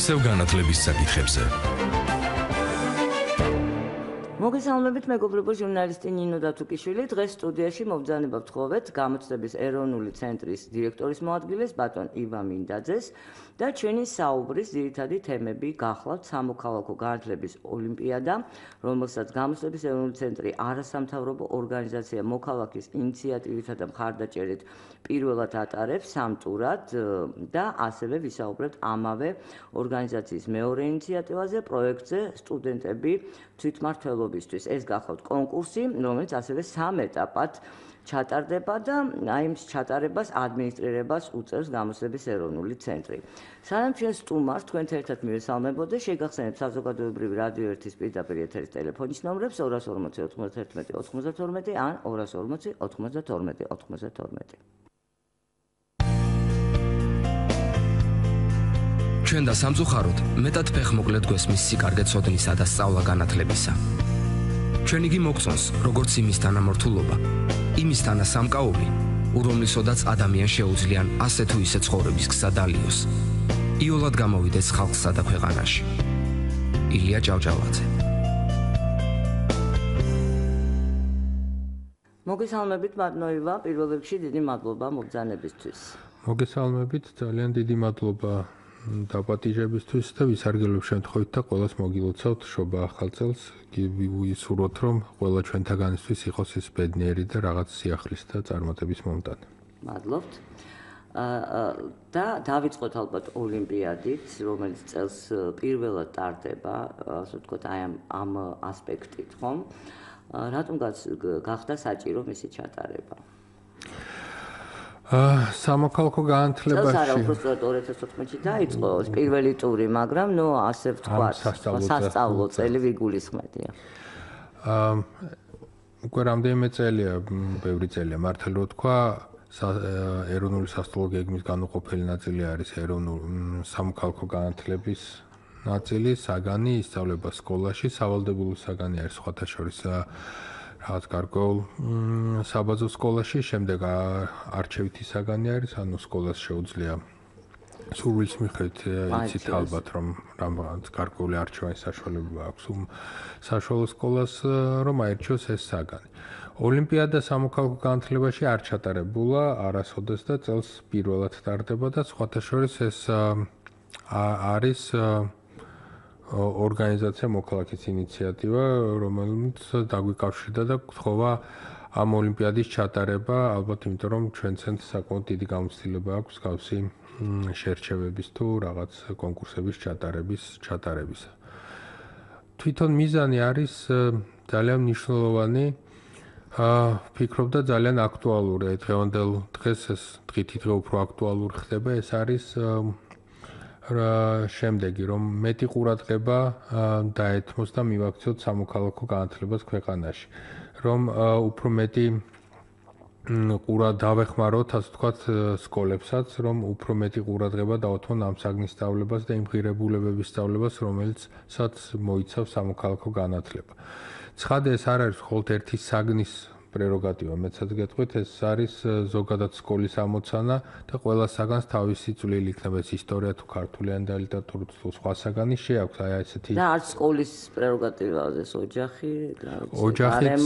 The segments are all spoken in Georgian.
ისევ განათლების საკითხებზე. მოგესალმებით, მეგობრებო, ჟურნალისტი ნინო დათუკიშვილი. დღეს სტუდიაში მობრძანება ვთხოვეთ გამოცდების ეროვნული ცენტრის დირექტორის მოადგილეს ბატონ იბა მინდაძეს და ჩვენი საუბრის ძირითადი თემები გახლავთ სამოქალაქო განათლების ოლიმპიადა, რომელსაც გამოცდების ეროვნული ცენტრი არასამთავრობო ორგანიზაცია მოქალაქის ინიციატივითა და მხარდაჭერით პირველად ატარებს სამტურად და ასევე ვისაუბრებთ ამავე ორგანიზაციის მეორე ინიციატივაზე, პროექტზე სტუდენტები თვითმმართველობისთვის. ეს გახლავთ კონკურსი, რომელიც ასევე სამ ეტაპად ჩატარდება და აი ამ ჩატარებას ადმინისტრირებას უწევს გამოცდების ეროვნული ცენტრი. სანამ ჩვენ სტუმარს თქვენთან ერთად მივესალმებოდე, შეგახსენებთ საზოგადოებრივი რადიო 1-ის პირდაპირ ეთერის ტელეფონის ნომრებს 240 91 92 ან 240 92 92. ჩვენ და სამწუხაროდ მეტად ფეხმოკლედ გვესმის სიკარგე ცოდნისა და სწავლა განათლებისა. ჩვენ იგი მოგწონს, როგორც იმის თანამორთულობა, იმის თანასამკაული, რომლისოდაც ადამიანს შეუძლიან ასე თუ ისე ცხოვრების გზა დალიოს. იოლად გამოვიდეს ხალხსა და ქვეყანაში. ილია ჭავჭავაძე. მოგესალმებით, ბატონო, პირველ რიგში დიდი მადლობა მობრძანებისთვის. მოგესალმებით, ძალიან დიდი მადლობა დაპატიჟებისთვის და ვისარგებლობ შემთხვევით და ყველას მოგილოცავთ შობა ახალ წელს. ვისურვოთ, რომ ყველა ჩვენთაგანისთვის იყოს ეს ბედნიერი და რაღაც სიახლის და წარმატების მომტანი. მადლობთ. და დავიწყოთ ალბათ ოლიმპიადით, რომელიც წელს პირველად ტარდება, ასე ვთქვათ, აი ამ ასპექტით, ხომ? რატომ გახდა საჭირო მისი ჩატარება? სამოქალაქო განათლებაში არა, უბრალოდ 2014-ში დაიწყო პირველი ტური, მაგრამ ასე ვთქვათ, სასწავლო წელი ვიგულისხმედია. უკვე რამდენიმე წელია, ბევრი წელია მართლა რო თქვა, ეროვნული სასწავლო გეგმის განუყოფელი ნაწილი არის სამოქალაქო განათლების ნაწილი, საგანი ისწავლება სკოლაში, სავალდებულო საგანი არის სხვათა შორის რაღაც გარკვეულ საბაზო სკოლაში, შემდეგ არჩევითი საგანი არის, ანუ სკოლას შეუძლია სურვილის მიხედვით იცით ალბათ, რომ რაღაც გარკვეული არჩევანის საშუალება აქვს საშუალო სკოლას, რომ აირჩიოს ეს საგანი. ოლიმპიადა სამოქალაქო განათლებაში არ ჩატარებულა არასოდეს და წელს პირველად ტარდება და სხვათა შორის ეს არის ორგანიზაცია მოქალაქის ინიციატივა, რომელიც დაგვიკავშირდა და გთხოვა ამ ოლიმპიადის ჩატარება, ალბათ იმიტომ რომ ჩვენცენ საკმაოდ დიდი გამოცდილება აქვს გავსი შერჩევების თუ რაღაც კონკურსების ჩატარებისა. თვითონ მიზანი არის ძალიან მნიშვნელოვანი, ვფიქრობ და ძალიან აქტუალური. დღევანდელ დღეს ეს დღითი დღე უფრო აქტუალური ხდება, ეს არის შემდეგი, რომ მეტი ყურადღება დაეთმოს და მივაქციოთ სამოქალაქო განათლებას ქვეყანაში, რომ უფრო მეტი დავეხმაროთ, ასე ვთქვათ, სკოლებსაც, რომ უფრო მეტი ყურადღება დავუთმონ ამ საგნის სწავლებას და იმ ღირებულებების სწავლებას, რომელსაც მოიცავს სამოქალაქო განათლება. ცხადე ეს არ არის მხოლოდ ერთი საგნის პრეროგატივა, მეცაც გეტყვით, ეს არის ზოგადად სკოლის ამოცანა და ყველა საგანს თავისი წვლილი იქნება, ეს ისტორია თუ ქართული ან და ლიტერატურა თუ სხვა საგანი შეაქვს, აი ესეთი და არც სკოლის პრეროგატივაა ეს ოჯახი,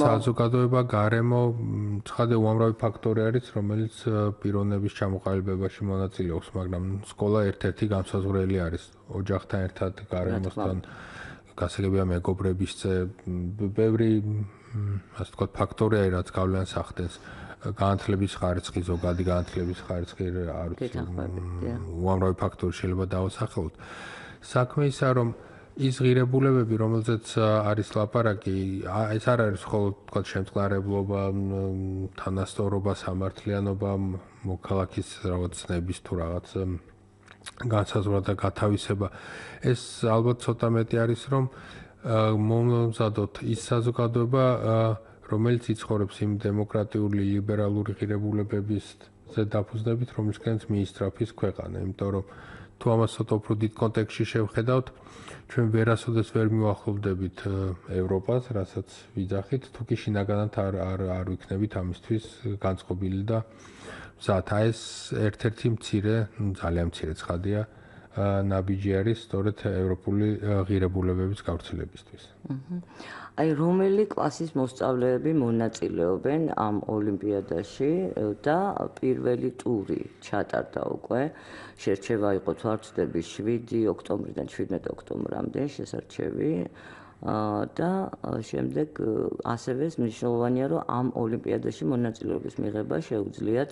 საზოგადოება, გარემო, ცხადე უამრავი ფაქტორი არის, რომელიც პიროვნების ჩამოყალიბებაში მონაწილეობს, მაგრამ სკოლა ერთ-ერთი განსაზღვრელი არის ოჯახთან ერთად, გარემოსთან, გასაგებია მეგობრების ბევრი ასე ვთქვათ, ფაქტორია, რაც გავლენას ახდენს განათლების ხარისხი, ზოგადი განათლების ხარისხი, არ ვიცი, უამრავი ფაქტორი შეიძლება დავასახელოთ. საქმე ისაა, რომ ის ღირებულებები, რომელზეც არის ლაპარაკი, ეს არ არის მხოლოდ ვთქვათ, შემწყნარებლობა, თანასწორობა, სამართლიანობა, მოქალაქის რაღაც ცნების თუ რაღაც განსაზღვრა და გათავისება. ეს ალბათ ცოტა მეტი არის, რომ მომზადოთ ის საზოგადოება, რომელიც იცხოვრებს იმ დემოკრატიული, ლიბერალური ღირებულებების დაფუძნებით, რომლისკენაც მიისწრაფის ქვეყანა. იმიტომ რომ თუ ამას ცოტა უფრო დიდ კონტექსტში შევხედავთ, ჩვენ ვერასოდეს ვერ მივახლოვდებით ევროპას, რასაც ვიძახით, თუ კი შინაგანად არ ვიქნებით ამისთვის განწყობილი და მზად. ეს ერთ-ერთი მცირე, ძალიან მცირე ცხადია ნაბიჯი არის სწორედ ევროპული ღირებულებების გავრცელებისთვის. აი რომელი კლასის მოსწავლეები მონაწილეობენ ამ ოლიმპიადაში და პირველი ტური ჩატარდა უკვე. შერჩევა იყო თუ არ ვცდები 7 ოქტომბრიდან 17 ოქტომბრამდე შესარჩევი და შემდეგ ასევე მნიშვნელოვანია რომ ამ ოლიმპიადაში მონაწილეობის მიღება შეუძლიათ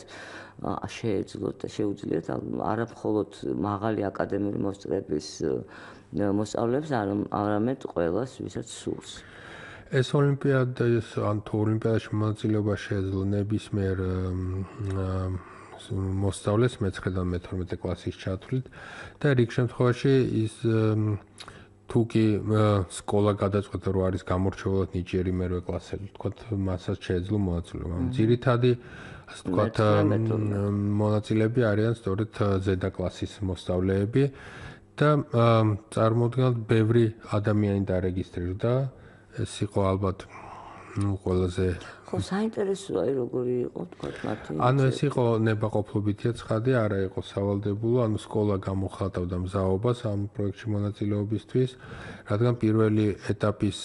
არა მხოლოდ მაღალი აკადემიური მოსწრების მოსწავლეებს, არამედ ყველას, ვისაც სურს. ეს ოლიმპიადის ან თუ ოლიმპიადაში მონაწილეობა შეეძლო ნებისმიერ მოსწავლეს მე-9-დან მე-12 კლასის ჩათვლით და რიგ შემთხვევაში ის თუ კი სკოლა გადაწყვეტა რომ არის გამორჩეულად ნიჭიერი მერვე კლასელი, თქვათ მასაც შეეძლო მონაწილეობა. ძირითადი ასე თქვათ მონაწილეები არიან სწორედ ზედა კლასის მოსწავლეები და წარმოუდგენლად ბევრი ადამიანი დარეგისტრირდა. ეს იყო ალბათ ყველაზე ხო საინტერესოა როგორი იყო თქვათ მათი ანუ ეს იყო ნებაყოფლობითია ცხადი, არა იყო სავალდებულო, ანუ სკოლა გამოხატავდა მზაობას ამ პროექტში მონაწილეობისთვის, რადგან პირველი ეტაპის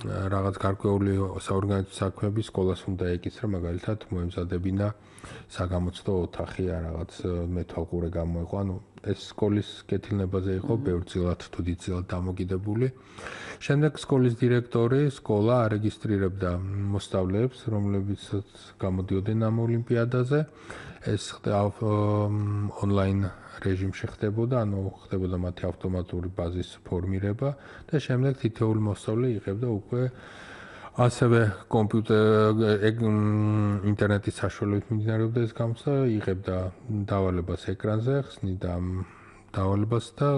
რაღაც გარკვეული საორგანიზაციო საქმეები სკოლას უნდა ეკისრა, მაგალითად მოემზადებინა საგამოცდო ოთახი ან რაღაც მეთვალყურე გამოიყო, ანუ ეს სკოლის კეთილნებაზე იყო ბევრწილად თუ დიდწილად დამოკიდებული. შემდეგ სკოლის დირექტორი სკოლა არეგისტრირებდა მოსწავლეებს, რომლებიც გამოდიოდნენ ამ ოლიმპიადაზე. ეს ონლაინ რეჟიმში ხდებოდა, ანუ ხდებოდა მათი ავტომატური ბაზის ფორმირება და შემდეგ თითოეული მოსწავლე იღებდა უკვე ასევე ინტერნეტის საშუალებით მიმდინარეობდა ეს გამოცდა, იღებდა დავალებას ეკრანზე, ხსნიდა დავალებას და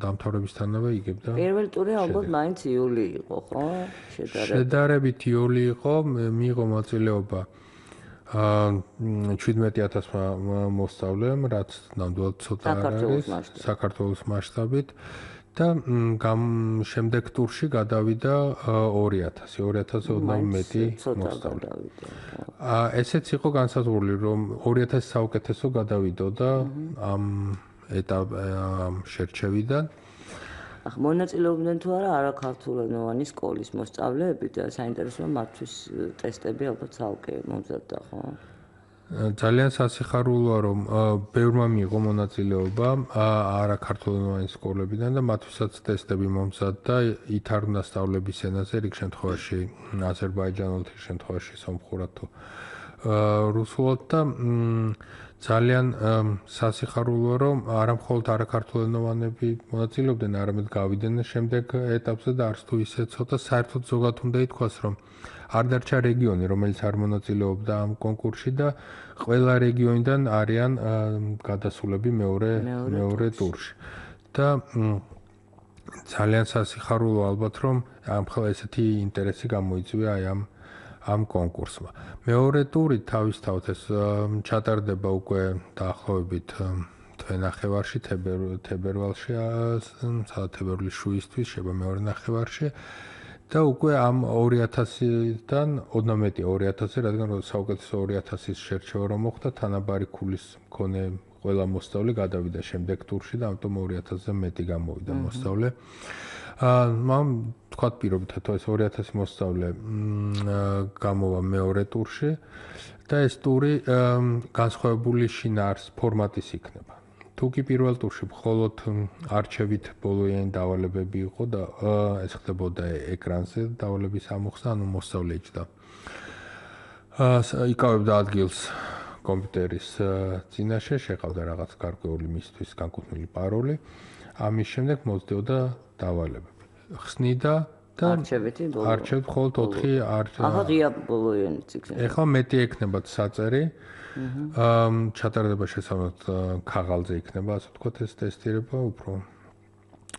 დამთავრებისთანავე იგებდა. პირველი ტური ალბათ მაინც იული იყო, ხო? შედარებით იული იყო, მიიღო მონაწილეობა 17,000 მოსწავლემ, რაც ნამდვილად ცოტა არის საქართველოს მასშტაბით. და შემდეგ ტურში გადავიდა 2,000 ოდნავ მეტი მოსწავლე. ესეც იყო განსაზღვრული, რომ 2,000 საუკეთესო გადავიდოდა ამ შერჩევიდან. მონაწილეობდნენ თუ არა არაქართულენოვანი სკოლის მოსწავლეები და საინტერესოა მათთვის ტესტები ალბათ ცალკე მომზადდა, ხო? ძალიან სასიხარულოა, რომ ბევრმა მიიღო მონაწილეობა არაქართულენოვანი სკოლებიდან და მათთვისაც ტესტები მომზადდა ითარგმნა სწავლების ენაზე, რიგ შემთხვევაში აზერბაიჯანულად, რიგ შემთხვევაში სომხურად თუ რუსულად და ძალიან სასიხარულოა, რომ არა მხოლოდ არაქართულენოვანები მონაწილეობდნენ, არამედ გავიდნენ შემდეგ ეტაპზე და არც თუ ისე ცოტა საერთოდ ზოგადად უნდა ითქვას, რომ არ დარჩა რეგიონი, რომელიც არ მონაწილეობდა ამ კონკურსში და ყველა რეგიონიდან არიან გადასულები მეორე ტურში. და ძალიან სასიხარულოა ალბათ, რომ ამხელა ესეთი ინტერესი გამოიწვია აი ამ კონკურსმა. მეორე ტური თავისთავად ეს ჩატარდება უკვე დაახლოებით თვენახევარში, თებერვალში, სადაც თებერვლის შუისთვის შეება მეორე ნახევარში. და უკვე ამ 2,000-დან ოდნავ მეტი 2,000, რადგან საუკეთესო 2,000-ის შერჩევა რომ მოხდა, თანაბარი ქულის მქონე ყველა მოსწავლე გადავიდა შემდეგ ტურში და ამიტომ 2,000-ზე მეტი გამოვიდა მოსწავლე. მამ თქვათ პირობითად ეს 2,000 მოსწავლე გამოვა მეორე ტურში და ეს ტური განსხვავებული შინაარს ფორმატის იქნება. თუ კი პირველ ტურში მხოლოდ არჩევით ბოლოიანი დავალებები იყო და ეს ხდებოდა ეკრანზე დავალების ამოხსნა, ანუ მოსწავლე იჯდა. იკავებდა ადგილს კომპიუტერის წინაშე, შეყავდა რაღაც გარკვეული მისთვის განკუთვნილი პაროლი. ამის შემდეგ მოძდეოდა დავალებები. ხსნიდა და არჩევთ მხოლოდ 4 ღია ბოლოიანი ციკლი. ეხლა მეტი ექნებათ საწერი. ჩატარდება შესაბამისად ქაღალდზე იქნება, ასე ვთქვათ, ეს ტესტირება უფრო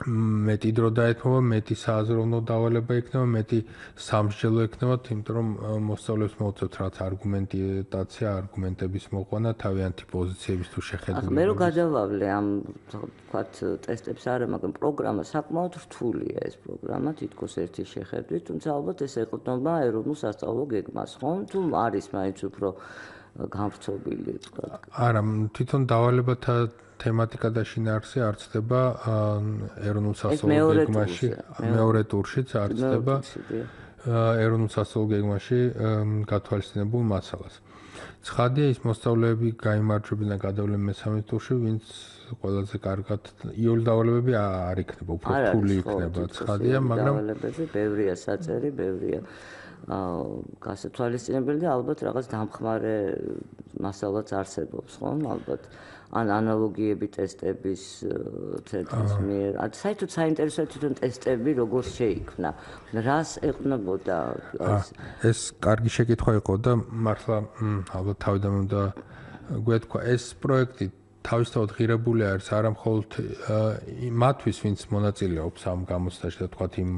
მეტი დრო დაეთმობა, მეტი სააზროვნო დავალება იქნება, მეტი სამსჯელო იქნება, იმიტომ რომ მოსწავლეებს მოუწევთ რაც არგუმენტაცია, არგუმენტების მოყვანა, თავიანთი პოზიციების თუ შეხედულების. მე რო გადავავლე ამ ვთქვათ ტესტებს არა, მაგრამ პროგრამა საკმაოდ რთულია ეს პროგრამა, თითქოს ერთი შეხედვით, თუმცა ალბათ ეს ეყრდნობა ეროვნულ სასწავლო გეგმას, ხო? თუ არის მაინც უფრო გამრთობილი თქვა. არა, თვითონ დავალებათა თემატიკა და შინაარსი არ ცდება ეროვნულ სასწავლო გეგმაში, მეორე ტურშიც არ ცდება ეროვნულ სასწავლო გეგმაში გათვალისწინებულ მასალას. ცხადია ის მოსწავლეები გაიმარჯვებენ და გადავლენ მესამე ტურში, ვინც ყველაზე კარგად იოლ დავალებები არ იქნება, უფრო რთული იქნება. ცხადია, მაგრამ ბევრია საწერი, ბევრია გასათვალისწინებელი და ალბათ რაღაც დამხმარე მასალაც არსებობს, ხო? ალბათ ან ანალოგიები ტესტების ცენტრის მიერ. საერთოდ საინტერესოა თვითონ ტესტები როგორ შეიქმნა. რას ეყნებოდა ეს კარგი შეკითხვა იყო და მართლა ალბათ თავიდან უნდა გვეთქვა ეს პროექტი თავისთავად ღირებული არის არა მხოლოდ მათთვის, ვინც მონაწილეობს ამ გამოცდაში და თქვათ იმ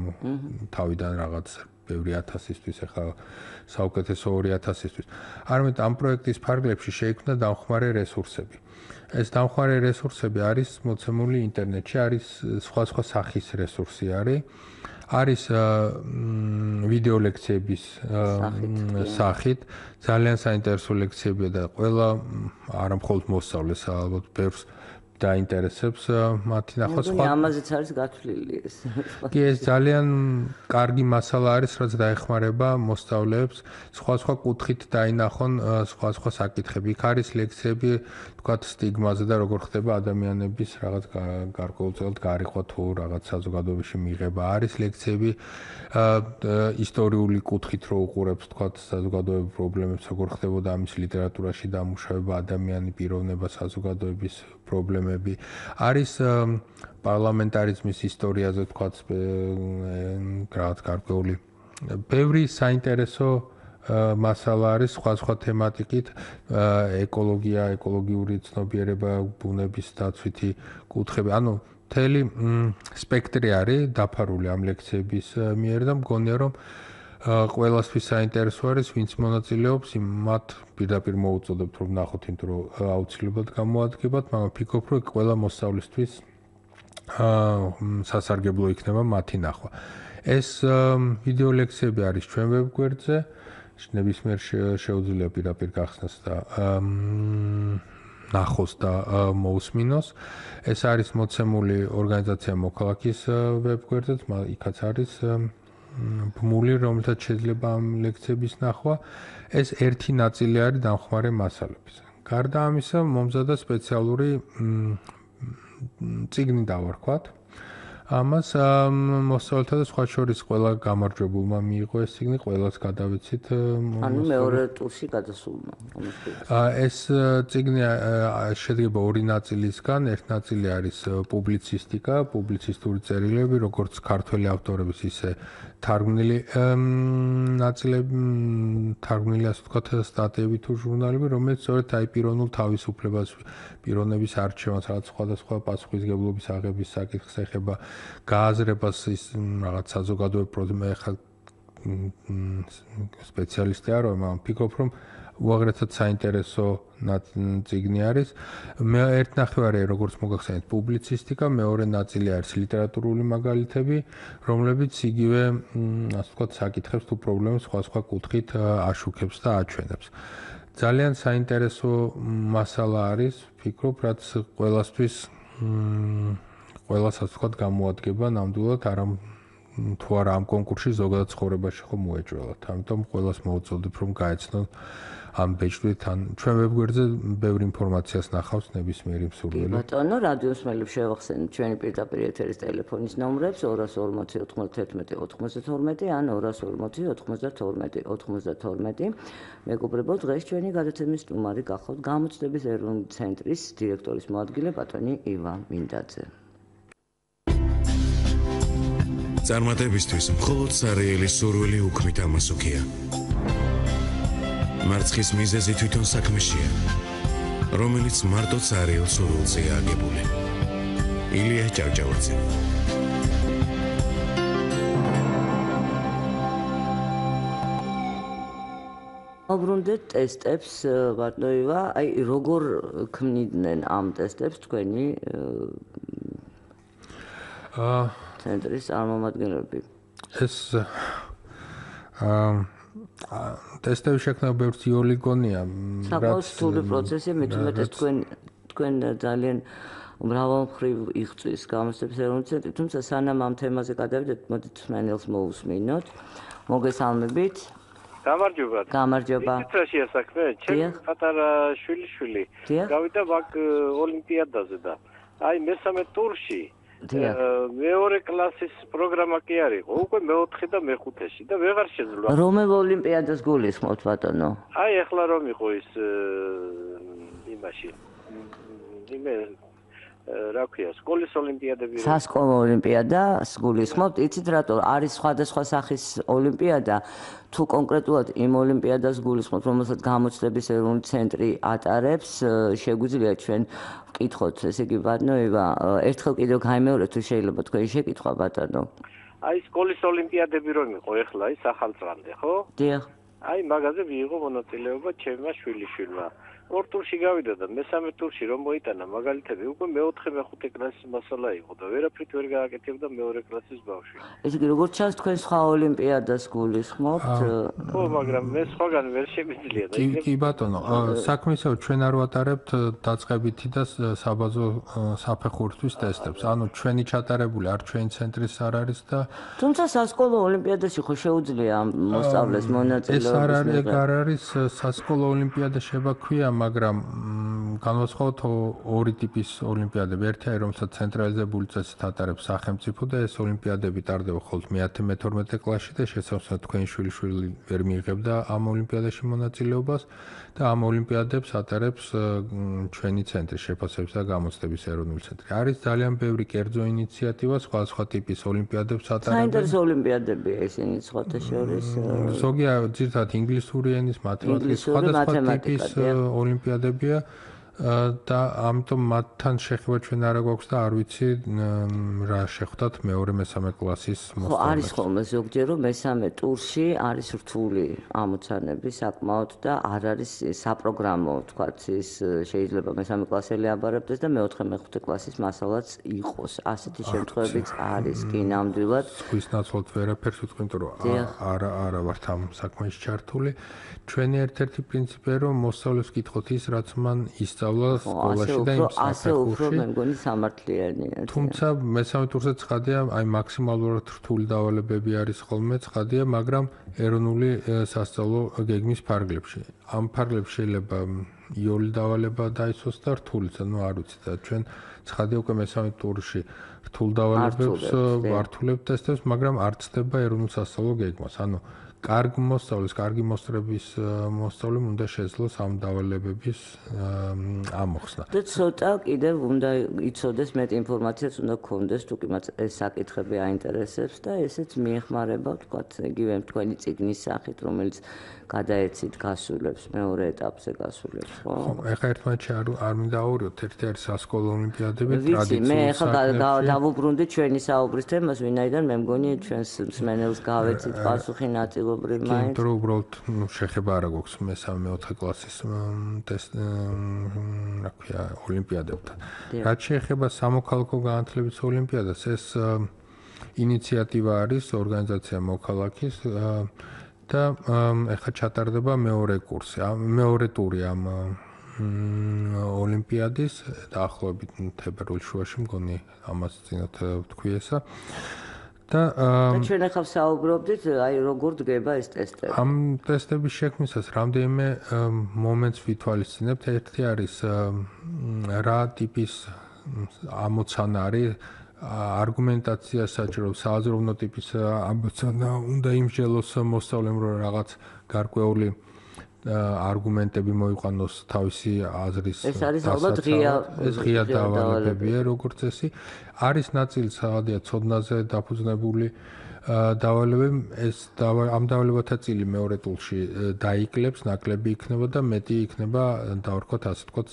თავიდან რაღაც ბევრი 1000-ისთვის, ახლა საუკეთესო 2000-ისთვის. არამედ ამ პროექტის ფარგლებში შეიქმნა დამხმარე რესურსები. ეს დამხმარე რესურსები არის მოცემული ინტერნეტში, არის სხვა სახის რესურსი არის ვიდეო ლექციების სახით, ძალიან საინტერესო ლექციებია და ყველა არა მხოლოდ მოსწავლეს, ალბათ ბევრს დაინტერესებს მათი ნახვა. სხვა ამაზეც არის გათვლილი ეს. კი, ეს ძალიან კარგი მასალა არის, რაც დაეხმარება მოსწავლეებს სხვა კუთხით დაინახონ სხვა საკითხები. იქ არის ლექციები, თქვათ, სტიგმაზე და როგორ ხდება ადამიანების რაღაც გარკვეულწილად გარიყვა თუ რაღაც საზოგადოებაში მიღება. არის ლექციები ისტორიული კუთხით რო უყურებს, თქვათ, საზოგადოებრივ პრობლემებს, როგორ ხდებოდა ამის ლიტერატურაში დამუშავება, ადამიანი პიროვნება, საზოგადოების პრობლემები. არის პარლამენტარიზმის ისტორიაზე, თქვათ, რაღაც გარკვეული. ბევრი საინტერესო მასალა არის სხვა თემატიკით, ეკოლოგია, ეკოლოგიური ცნობიერება, ბუნების დაცვითი კუთხები. ანუ მთელი სპექტრი არის დაფარული ამ ლექციების მიერ და მგონია რომ ყველასთვის საინტერესო არის, ვინც მონაწილეობს, მათ პირდაპირ მოუწოდებთ რომ ნახოთ, იმიტომ რომ აუცილებლად გამოადგებათ, მაგრამ ფიქრობ, რომ ყველა მოსწავლისთვის სასარგებლო იქნება მათი ნახვა. ეს ვიდეო ლექციები არის ჩვენ ვებგვერდზე, ნებისმიერ შეუძლია პირდაპირ გახსნას და ნახოს და მოусმინოს. ეს არის მოცემული ორგანიზაცია მოქალაქის ვებგვერდზე, იქაც არის ბმული, რომელსაც შეიძლება ამ ლექციების ნახვა. ეს ერთი ნაწილი არის დამხმარე მასალების. გარდა ამისა, მომზადა სპეციალური წიგნი დავარქვათ. ამას მოსწავლეთა და სხვა შორის ყველა გამარჯვებულმა მიიღო ეს წიგნი, ყველას გადავეცით. ანუ მეორე ტურში გადასულმა. ეს წიგნი შედგება ორი ნაწილისგან. ერთი ნაწილი არის პუბლიცისტიკა, პუბლიცისტური წერილები, როგორც ქართველი ავტორების, ისე თარგმნილი ნაწილები, თარგმნილი ასე ვთქვათ სტატიები თუ ჟურნალები, რომელიც სწორედ აი პიროვნულ თავისუფლებას, პიროვნების არჩევანს, რაღაც სხვადასხვა პასუხისგებლობის აღების საკითხს ეხება, გააზრებას ის რაღაც საზოგადოებრივ პრობლემები, ხა სპეციალისტი არ ვარ, მაგრამ ფიქრობ, რომ უაღრესად საინტერესო წიგნი არის. მე ერთ ნახევარი, როგორც მოგახსენეთ, პუბლიცისტიკა, მეორე ნაწილი არის ლიტერატურული მაგალითები, რომლებიც იგივე, ასე ვთქვათ, საკითხებს თუ პრობლემებს სხვა კუთხით აშუქებს და აჩვენებს. ძალიან საინტერესო მასალა არის, ფიქრობ, რაც ყველასთვის ყველას ასე ვთქვათ გამოადგება ნამდვილად, თუ არა ამ კონკურსში ზოგადად ცხოვრებაში ხომ მოეჭველათ. ამიტომ ყველას მოუწოდებ რომ გაეცნონ ამ ბეჭდვით ან ჩვენ ვებგვერდზე ბევრ ინფორმაციას ნახავს ნებისმიერი მსურველი. ბატონო, რადიო მსმენელებს შევახსენებთ ჩვენი პირდაპირ ეთერის ტელეფონის ნომრებს 240 91 92 ან 240 92 92. მეგობრებო, დღეს ჩვენი გადაცემის სტუმარი გახავთ გამოცდების ეროვნული ცენტრის დირექტორის მოადგილე ბატონი ივა მინდაძე. წარმატებისთვის მხოლოდ სარეელი სურვილი უქმით ამასოქია. მარცხის მიზეზი თვითონ საქმეშია, რომელიც მარტო სარეელ სურვილზეა აგებული. ილია ჭავჭავაძე. აბრუნდეთ ტესტებს, ბატონო ივა, აი როგორ ქმნიდნენ ამ ტესტებს თქვენი ცენტრის წარმომადგენლები? ეს ტესტების შექმნა ბევრს იოლი გონია, საკმაოდ რთული პროცესია, მithumetes თქვენ ძალიან მრავალმხრივ იღწვის გამოცდების ეროვნული ცენტრი, თუმცა სანამ ამ თემაზე გადავიდეთ, მოდით მსმენელს მოусმინოთ. მოგესალმებით. გამარჯობა. გამარჯობა. ისეთაშია საქმე, ჩემი პატარა შვილიშვილი გავიდა მაგ ოლიმპიადაზე და აი მესამე ტურში მეორე კლასის პროგრამა კი არის, უკვე მეოთხე და მეხუთეში და ვეღარ შეძლო. რომელ ოლიმპიადას გულისხმობთ ბატონო? აი ახლა რომ იყო ის იმაში. იმე რა ქვია, სკოლის ოლიმპიადები. სასკოლო ოლიმპიადას გულისხმობთ? იცით რატო არის სხვადასხვა სახის ოლიმპიადა? თუ კონკრეტულად იმ ოლიმპიადას გულისხმობთ, რომელსაც გამოცდების ეროვნული ცენტრი ატარებს, შეგვიძლია ჩვენ ვკითხოთ, ესე იგი ბატონო ევა, ერთხელ კიდევ გაიმეორეთ თუ შეიძლება თქვენი შეკითხვა ბატონო. აი სკოლის ოლიმპიადები რომ იყო ახლა ის ახალწლამდე, ხო? დიახ. აი მაგაზე მიიღო მონაწილეობა ჩემმა შვილიშვილმა. ორ ტურში გავიდა და მესამე ტურში რომ მოიტანა მაგალითები უკვე მეოთხე მეხუთე კლასის მასალა იყო და ვერაფრით ვერ გააკეთებდა მეორე კლასის ბავშვი. ესე იგი როგორც ჩანს თქვენ სხვა ოლიმპიადას გულისხმობთ? ხო, მაგრამ მე სხვაგან ვერ შემიძლია და კი ბატონო, საქმე ისევ ჩვენ არ ვატარებთ დაწყებითი და საბაზო საფეხურისთვის ტესტებს. ანუ ჩვენი ჩატარებული არ ჩვენი ცენტრის არ არის და თუმცა სასკოლო ოლიმპიადაში ხო შეუძლია მოსწავლეს მონაწილეობის ეს არ არის სასკოლო ოლიმპიადა შევაქვია, მაგრამ განვასხვაოთ ორი ტიპის ოლიმპიადები. ერთია, რომელსაც ცენტრალიზებული წესით ატარებს სახელმწიფო და ეს ოლიმპიადები ტარდება მხოლოდ მე-10-მე-12 კლასში და შესაძლოა თქვენი შვილიშვილი ვერ მიიღებდა ამ ოლიმპიადაში მონაწილეობას და ამ ოლიმპიადებს ატარებს ჩვენი ცენტრი შეფასების და გამოცდების ეროვნული ცენტრი. არის ძალიან ბევრი კერძო ინიციატივა, სხვა ტიპის ოლიმპიადებს ატარებს. საინტერესო ოლიმპიადებია ისინი სხვათა შორის. ზოგია ძირითადად ინგლისური ენის, მათემატიკის, სხვადასხვა ტიპის ოლიმპიადებია და ამიტომ მათთან შეხება ჩვენ არა გვაქვს და არ ვიცი რა შეხვდათ მეორე-მესამე კლასის მოსწავლეებს. ხო, არის ხოლმე ზოგჯერ რომ მესამე ტურში არის რთული ამოცანები საკმაოდ და არ არის საპროგრამო, თქვათ ის შეიძლება მესამე კლასელი აბარებდეს და მეოთხე-მეხუთე კლასის მასალაც იყოს. ასეთი შემთხვევებიც არის კი ნამდვილად. სხვის ნაცვლად ვერაფერს ვიტყვი, იმიტომ რომ არა ვართ ამ საქმეში ჩართული. ჩვენი ერთ-ერთი პრინციპია რომ მოსწავლეს ვკითხოთ ის, რაც მან ისწავლა სკოლაში და იმ საფეხურში. მე მგონი სამართლიანია. თუმცა მესამე ტურზე ცხადია, აი მაქსიმალურად რთული დავალებები არის ხოლმე ცხადია, მაგრამ ეროვნული სასწავლო გეგმის ფარგლებში. ამ ფარგლებში შეიძლება იოლი დავალება დაიცვას და რთულიც, ანუ არ ვიცი და ჩვენ ცხადია უკვე მესამე ტურში რთულ დავალებებს ვართულებთ ტესტებს, მაგრამ არ ცდება ეროვნულ სასწავლო გეგმას. ანუ კარგი მოსწავლეს მოსწავლემ უნდა შეძლოს ამ დავალებების ამოხსნა. და ცოტა კიდევ უნდა იცოდეს მეტ ინფორმაციას უნდა გქონდეს თუ კი მათ ეს საკითხები აინტერესებს და ესეც მიეხმარება თქვათ იგივე თქვენი წიგნის სახით რომელიც გადაეცით გასულებს მეორე ეტაპზე გასულებს ხო? ეხლა ერთმანეთში არ მინდა ავურიოთ, ერთი არის სასკოლო ოლიმპიადები ტრადიციულად. მე ეხლა დავუბრუნდი ჩვენი საუბრის თემას, ვინაიდან მე მგონი ჩვენს მსმენელს გავეცით პასუხი ნაწილობრივ მაინც. იმიტომ რომ უბრალოდ შეხება არა გვაქვს მე-3-4 კლასის რა ქვია ოლიმპიადებთან. რაც შეეხება სამოქალაქო განათლების ოლიმპიადას, ეს ინიციატივა არის ორგანიზაცია მოქალაქის და ეხლა ჩატარდება მეორე ტური ამ ოლიმპიადის დაახლოებით თებერვალის შუაში მგონი ამას წინათ ვთქვი ესა. და ჩვენ ახლა საუბრობდით აი როგორ დგება ეს ტესტები. ამ ტესტების შექმნისას რამდენიმე მომენტს ვითვალისწინებთ. ერთი არის რა ტიპის ამოცანა არის არგუმენტაცია საჭირო, სააზროვნო ტიპის ამოცანა უნდა იმსჯელოს მოსწავლემ რომ რაღაც გარკვეული არგუმენტები მოიყვანოს თავისი აზრის ეს არის ალბათ ღია დავალებებია როგორც წესი. არის ნაწილი სადღაც ცოდნაზე დაფუძნებული დავალებები, ამ დავალებათა წილი მეორე ტურში დაიკლებს, ნაკლები იქნება და მეტი იქნება დავარქვათ ასე ვთქვათ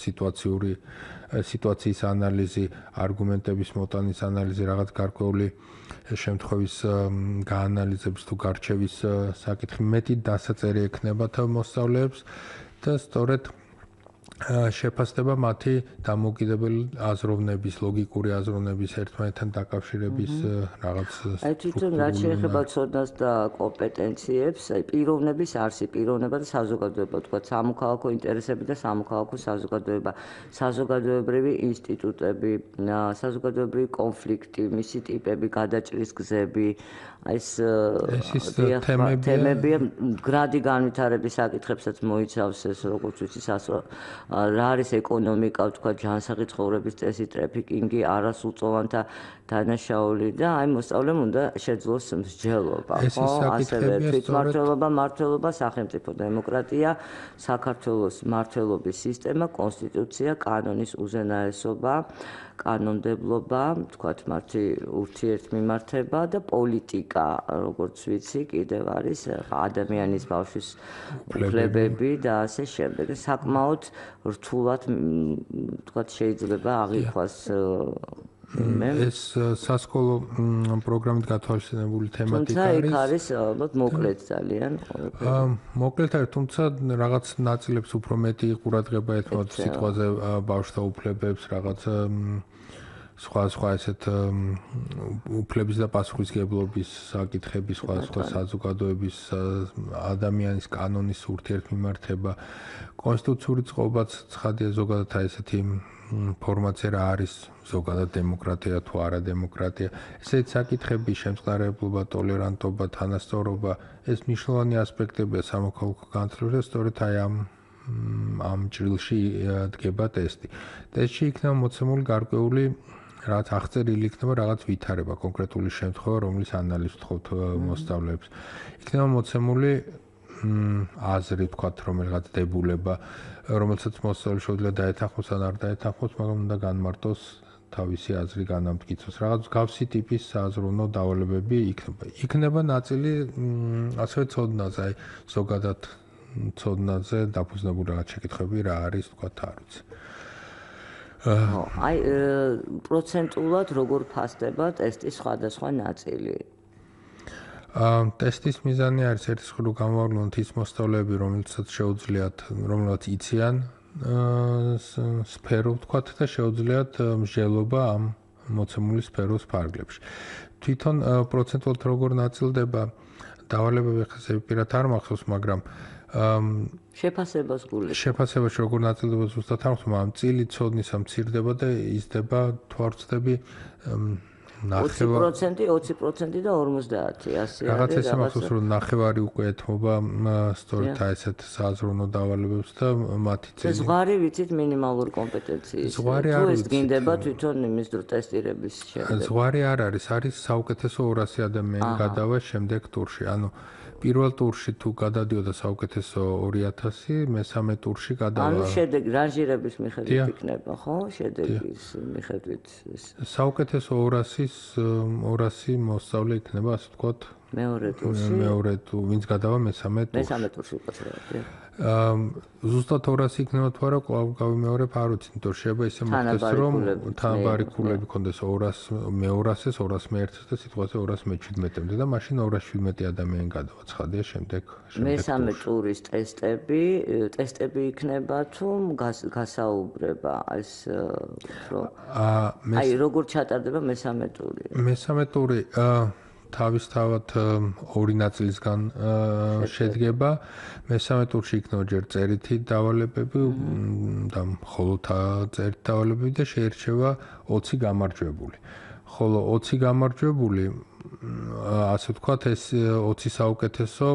სიტუაციის ანალიზი, არგუმენტების მოტანის ანალიზი, რაღაც გარკვეული შემთხვევის გაანალიზების თუ გარჩევის საკითხი, მეტი დასაწერი ექნებათ მოსწავლეებს და სწორედ შეფასდება მათი დამოუკიდებელი აზროვნების, ლოგიკური აზროვნების ერთმანეთთან დაკავშირების რაღაც თვითონ რაც შეეხება ცოდნას და კომპეტენციებს, პიროვნების არსი, პიროვნება და საზოგადოება, თქვა სამოქალაქო ინტერესები და სამოქალაქო საზოგადოება, საზოგადოებრივი ინსტიტუტები, საზოგადოებრივი კონფლიქტი, მისი ტიპები, გადაჭრის გზები, ეს თემებია გრადი განვითარების საკითხებსაც მოიცავს ეს როგორც ვიცი რა არის ეკონომიკა, თქვა ჯანსაღი ცხოვრების წესი, ტრაფიკინგი, არასრულწლოვანთა დანაშაული და აი მოსწავლემ უნდა შეძლოს მსჯელობა, ხო? ასევე თვითმმართველობა, მმართველობა, სახელმწიფო დემოკრატია, საქართველოს მმართველობის სისტემა, კონსტიტუცია, კანონის უზენაესობა, კანონმდებლობა, თქვათ მათი ურთიერთმიმართება და პოლიტიკა, როგორც ვიცი, კიდევ არის ადამიანის ბავშვის უფლებები და ასე შემდეგ. საკმაოდ რთულად თქვათ შეიძლება აღიქვას ეს სასკოლო პროგრამით გათვალისწინებული თემატიკა არის. თუმცა იქ არის ალბათ მოკლედ ძალიან. მოკლედ არის, თუმცა რაღაც ნაწილებს უფრო მეტი ყურადღება ეთმობთ სიტყვაზე ბავშვთა უფლებებს, რაღაც სხვა ესეთ უფლების და პასუხისმგებლობის საკითხების, სხვა საზოგადოების, ადამიანის კანონის ურთიერთმიმართება, კონსტიტუციური წყობაც ცხადია ზოგადად აი ესეთი ფორმაცია რა არის ზოგადად დემოკრატია თუ არა დემოკრატია. ესეთი საკითხები, შემწყნარებლობა, ტოლერანტობა, თანასწორობა, ეს მნიშვნელოვანი ასპექტებია სამოქალაქო განათლებაში, სწორედ აი ამ ჭრილში დგება ტესტი. ტესტში იქნება მოცემული გარკვეული რაღაც აღწერილი იქნება რაღაც ვითარება, კონკრეტული შემთხვევა, რომლის ანალიზს ვთხოვთ მოსწავლეებს. იქნება მოცემული აზრი, თქვათ, რომელიღაც დებულება, რომელსაც მოსწავლე შეუძლია დაეთანხმოს ან არ დაეთანხმოს, მაგრამ უნდა განმარტოს თავისი აზრი განამტკიცოს. რაღაც გავსი ტიპის სააზროვნო დავალებები იქნება. იქნება ნაწილი ასევე ცოდნაზე, აი ზოგადად ცოდნაზე დაფუძნებული რაღაც შეკითხვები რა არის, თქვათ, არ ვიცი. აი პროცენტულად როგორ ფასდება ტესტის სხვადასხვა ნაწილი? ტესტის მიზანი არის ერთის მხრივ გამოვავლინოთ ის მოსწავლეები, რომელსაც შეუძლიათ, რომელსაც იციან სფერო, ვთქვათ, და შეუძლიათ მსჯელობა ამ მოცემული სფეროს ფარგლებში. თვითონ პროცენტულად როგორ ნაწილდება დავალებები, ხა პირად არ მახსოვს, მაგრამ შეფასებას გულისხმობ. შეფასებაში როგორ ნაწილდება ზუსტად არ მახსოვს, მაგრამ წილი ცოდნისა მცირდება და იზრდება თუ არ ვცდები 20% და 50 ასე რაღაც ესე მახსოვს, რომ ნახევარი უკვე ეთმობა სწორედ ესეთ სააზროვნო დავალებებს და მათი წილი. ზღვარი ვიცით მინიმალური კომპეტენციის. ზღვარი არ ვიცით. თუ ეს გინდება თვითონ იმის დრო ტესტირების შემდეგ. ზღვარი არ არის, არის საუკეთესო 200 ადამიანი გადავა შემდეგ ტურში. ანუ პირველ ტურში თუ გადადიოდა საუკეთესო 2000, მესამე ტურში გადავა. ანუ შედეგი რანჟირების მიხედვით იქნება, ხო? შედეგის მიხედვით. საუკეთესო 200 მოსწავლე იქნება, ასე ვთქვათ, მეორე ტურში. მეორე თუ ვინც გადავა მესამე ტურში. მესამე ტურში უყურებია. ზუსტად 200 იქნება თუ არა, კვლავ გავიმეორებ, არ ვიცი, იმიტომ რომ შეიძლება ისე მოხდეს, რომ თანაბარი ქულები ქონდეს 200 მე200-ს, 200 მე1-ს და სიტყვაზე 200 მე17-მდე და მაშინ 217 ადამიანი გადავა. ცხადია, შემდეგ მესამე ტურის ტესტები იქნება თუ გასაუბრება ეს რომ აი როგორ ჩატარდება მესამე ტური? მესამე ტური თავისთავად ორი ნაწილისგან შედგება. მესამე ტურში იქნება ჯერ წერითი დავალებები და მხოლოდ წერითი დავალებები და შეირჩევა 20 გამარჯვებული. ხოლო 20 გამარჯვებული, ასე ვთქვათ, ეს 20 საუკეთესო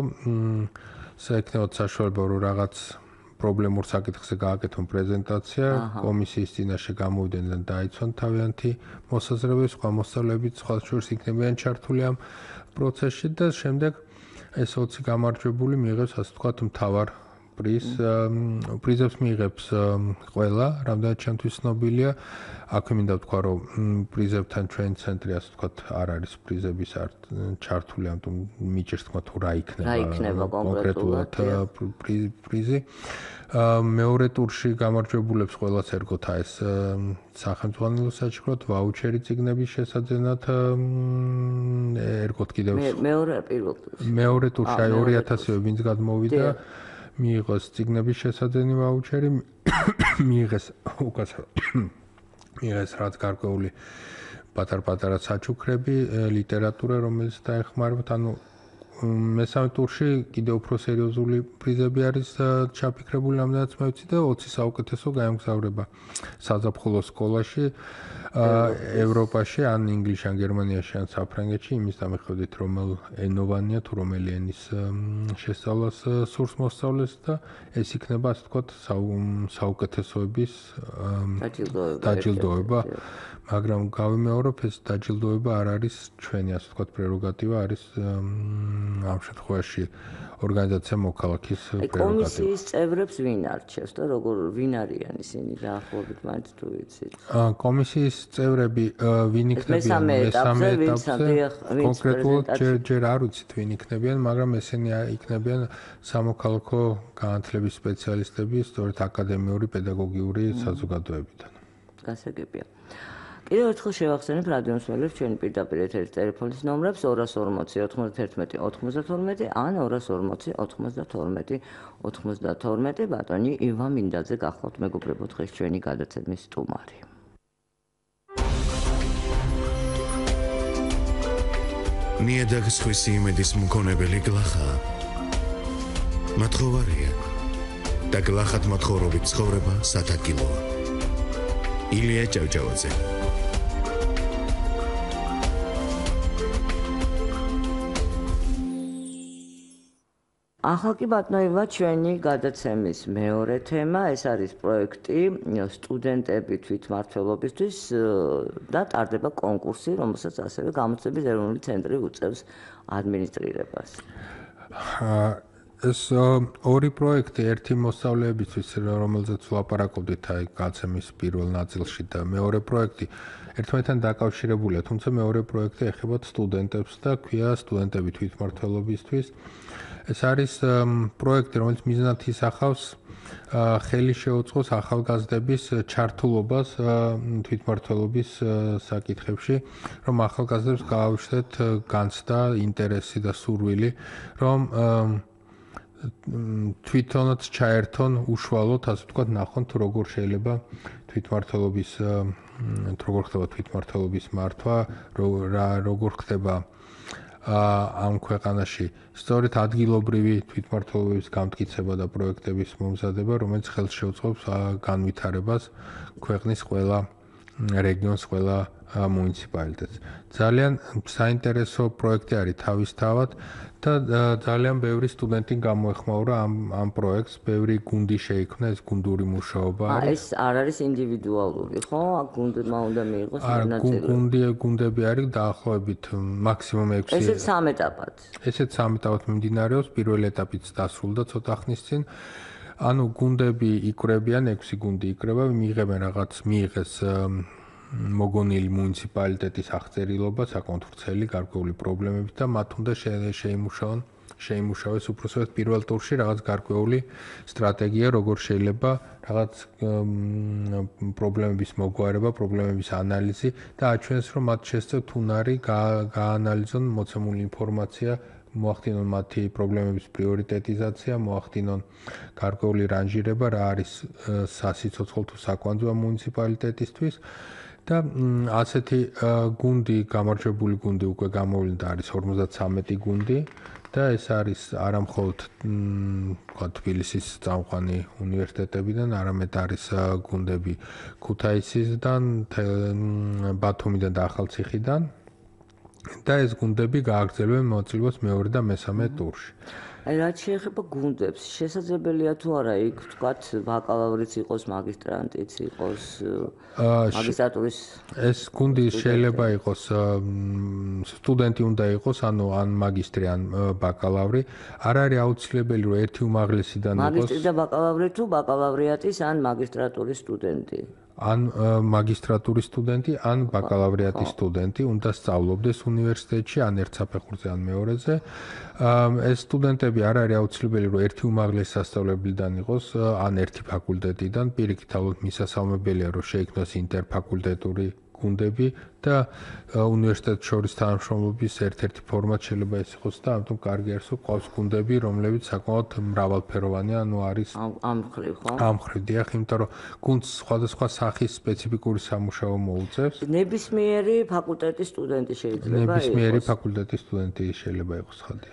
იქნება საშუალება, რომ რაღაც პრობლემურ საკითხზე გააკეთონ პრეზენტაცია, კომისიის წინაშე გამოვიდნენ და დაიცვან თავიანთი მოსაზრებები, სხვა მოსწავლეებიც სხვა შორის იქნებიან ჩართული ამ პროცესში და შემდეგ ეს 20 გამარჯვებული მიიღებს, ასე ვთქვათ, მთავარ პრიზებს მიიღებს ყველა, რამდენად ჩემთვის ცნობილია. აქვე მინდა ვთქვა, რომ პრიზებთან ჩვენ ცენტრი, ასე ვთქვათ, არ არის პრიზების ჩართული, ამიტომ მიჭირს თქვა თუ რა იქნება კონკრეტულად პრიზი. მეორე ტურში გამარჯვებულებს ყველას ერგოთ ეს სახელმწიფო საჩუქრად ვაუჩერი წიგნების შესაძენად ერგოთ კიდევ მეორე პირველ ტურში. მეორე ტურში 2000-ზე ვინც გადმოვიდა მიიღოს წიგნების შესაძენი ვაუჩერი, მიიღეს რაც გარკვეული პატარ-პატარა საჩუქრები, ლიტერატურა, რომელიც დაეხმარებათ, ანუ მესამე ტურში კიდევ უფრო სერიოზული პრიზები არის ჩაფიქრებული, რამდენიც მე ვიცი და 20 საუკეთესო გაემგზავრება საზაფხულო სკოლაში ევროპაში, ან ინგლისში, ან გერმანიაში, ან საფრანგეთში, იმის დამეხოდით, რომელ ენოვანია თუ რომელი ენის შესწავლას სურს მოსწავლეს და ეს იქნება, ასე ვთქვათ, საუკეთესოების დაჯილდოება. მაგრამ გავიმეორებ, ეს დაჯილდოება არ არის ჩვენი, ასე ვთქვათ, პრეროგატივა, არის ამ შემთხვევაში ორგანიზაცია მოქალაქის პრეროგატივა. კომისიის წევრებს ვინ არჩევს და ვინ არიან ისინი დაახლოებით მაინც თუ ვიცით? კომისიის წევრები ვინ იქნებიან მესამე ეტაპზე? კონკრეტულად ჯერ არ ვიცით ვინ იქნებიან, მაგრამ ესენი იქნებიან სამოქალაქო განათლების სპეციალისტები, სწორედ აკადემიური პედაგოგიური საზოგადოებიდან. გასაგებია. კიდევ ერთხელ შევახსენებ რადიო მსმენელებს ჩვენი პირდაპირ ეთერის ტელეფონის ნომრებს 240 91 92 ან 240 92 92. ბატონი ივან მინდაძე გახლავთ მეგობრებო დღეს ჩვენი გადაცემის სტუმარი. ნიადაგის ხვისი იმედის მქონებელი გლახა მათხოვარია და გლახად მათხოვრობით ცხოვრება სათაკილოა. ილია ჭავჭავაძე. ახლა კი ბატონო ჩვენი გადაცემის მეორე თემა, ეს არის პროექტი სტუდენტები თვითმმართველობისთვის და ტარდება კონკურსი, რომელსაც ასევე გამოცდების ეროვნული ცენტრი უწევს ადმინისტრირებას. ეს ორი პროექტი, ერთი მოსწავლეებისთვის, რომელზეც ვლაპარაკობდით აი გაცემის პირველ ნაწილში და მეორე პროექტი ერთმანეთთან დაკავშირებულია, თუმცა მეორე პროექტი ეხება სტუდენტებს და ქვია სტუდენტები თვითმმართველობისთვის. ეს არის პროექტი, რომელიც მიზნად ისახავს ხელი შეუწყოს ახალგაზრდების ჩართულობას თვითმმართველობის საკითხებში, რომ ახალგაზრდებს გააუჩნდეთ განცდა, ინტერესი და სურვილი, რომ თვითონაც ჩაერთონ უშუალოდ, ასე ვთქვათ, ნახონ თუ როგორ შეიძლება როგორ ხდება თვითმმართველობის მართვა, როგორ ხდება ამ ქვეყანაში სწორედ ადგილობრივი თვითმმართველობის გამტკიცება და პროექტების მომზადება, რომელიც ხელს შეუწყობს განვითარებას ქვეყნის ყველა რეგიონს, ყველა მუნიციპალიტეტს. ძალიან საინტერესო პროექტი არის თავისთავად და ძალიან ბევრი სტუდენტი გამოეხმაურა ამ პროექტს, ბევრი გუნდი შეიქმნა, ეს გუნდური მუშაობა არის. ეს არ არის ინდივიდუალური, ხო? გუნდმა უნდა მიიღოს მონაწილეობა. გუნდები არის დაახლოებით მაქსიმუმ 6. ესეც 3 ეტაპად. ესეც 3 ეტაპად მიმდინარეობს, პირველი ეტაპიც დასრულდა ცოტა ხნის წინ. ანუ გუნდები იკვრებიან, 6 გუნდი იკვრება, მიიღეს მოგონილი მუნიციპალიტეტის აღწერილობა, საკმაოდ ვრცელი გარკვეული პრობლემებით და მათ უნდა შეიმუშავეს უпроსოდ პირველ ტურში რაღაც გარკვეული სტრატეგია, როგორ შეიძლება რაღაც პრობლემების მოგვარება, პრობლემების ანალიზი და აჩვენეს, რომ მათ შესწევთ უნარი გაანალიზონ მოცემული ინფორმაცია, მოახდინონ მათი პრობლემების პრიორიტეტიზაცია, მოახდინონ გარკვეული რანჟირება, რა არის სასიცოცხლო თუ საკვანძო მუნიციპალიტეტისთვის. და ასეთი გუნდი, გამარჯვებული გუნდი უკვე გამოვლინდა, არის 53 გუნდი და ეს არის არა მხოლოდ თბილისის წამყვანი უნივერსიტეტებიდან, არამედ არის გუნდები ქუთაისისგან, ბათუმიდან და ახალციხიდან და ეს გუნდები გააგრძელებენ მონაწილეობას მეორე და მესამე ტურში. აი რაც შეეხება გუნდებს, შესაძლებელია თუ არა იქ ვთქვათ ბაკალავრიც იყოს, მაგისტრანტიც იყოს, მაგისტრატურის ეს გუნდი შეიძლება იყოს სტუდენტი უნდა იყოს, ანუ ან მაგისტრი, ან ბაკალავრი. არ არის აუცილებელი, რომ ერთი უმაღლესიდან იყოს. მაგისტრი და ბაკალავრი თუ ბაკალავრიატის ან მაგისტრატურის სტუდენტი. ან მაგისტრატურის სტუდენტი, ან ბაკალავრიატის სტუდენტი უნდა სწავლობდეს უნივერსიტეტში, ან ერთ საფეხურზე, ან მეორეზე. ეს სტუდენტები არ არის აუცილებელი, რომ ერთი უმაღლესი სასწავლებლიდან იყოს, ან ერთი ფაკულტეტიდან. პირიქით, ალბათ მისასალმებელია, რომ შეიქმნას ინტერფაკულტეტური გუნდები და უნივერსიტეტ შორის თანამშრომლობის ერთ-ერთი ფორმატ შეიძლება ეს იყოს და ამიტომ კარგი არის რომ ყავს გუნდები რომლებიც საკმაოდ მრავალფეროვანია ანუ არის ამ მხრივ ხო? ამ მხრივ დიახ იმიტომ რომ გუნდს სხვადასხვა სახის სპეციფიკური სამუშაო მოუწევს ნებისმიერი ფაკულტეტის სტუდენტი შეიძლება იყოს ნებისმიერი ფაკულტეტის სტუდენტი შეიძლება იყოს ხალხი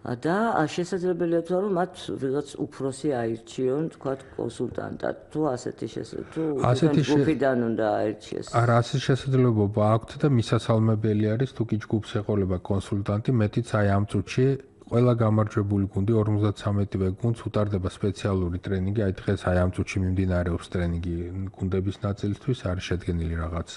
და შესაძლებელია თუ არა მათ ვიღაც უფროსი აირჩიონ თქვა კონსულტანტად თუ ასეთი ჯგუფიდან უნდა აირჩიეს არა ასეთი შესაძლებლობა აქვთ და მისასალმებელი არის თუ კი ჯგუფს ეყოლება კონსულტანტი მეტიც აი ამ წუთში ყველა გამარჯვებული გუნდი 53-ვე გუნდს უტარდება სპეციალური ტრენინგი აი დღეს აი ამ წუთში მიმდინარეობს ტრენინგი გუნდების ნაწილისთვის არის შედგენილი რაღაც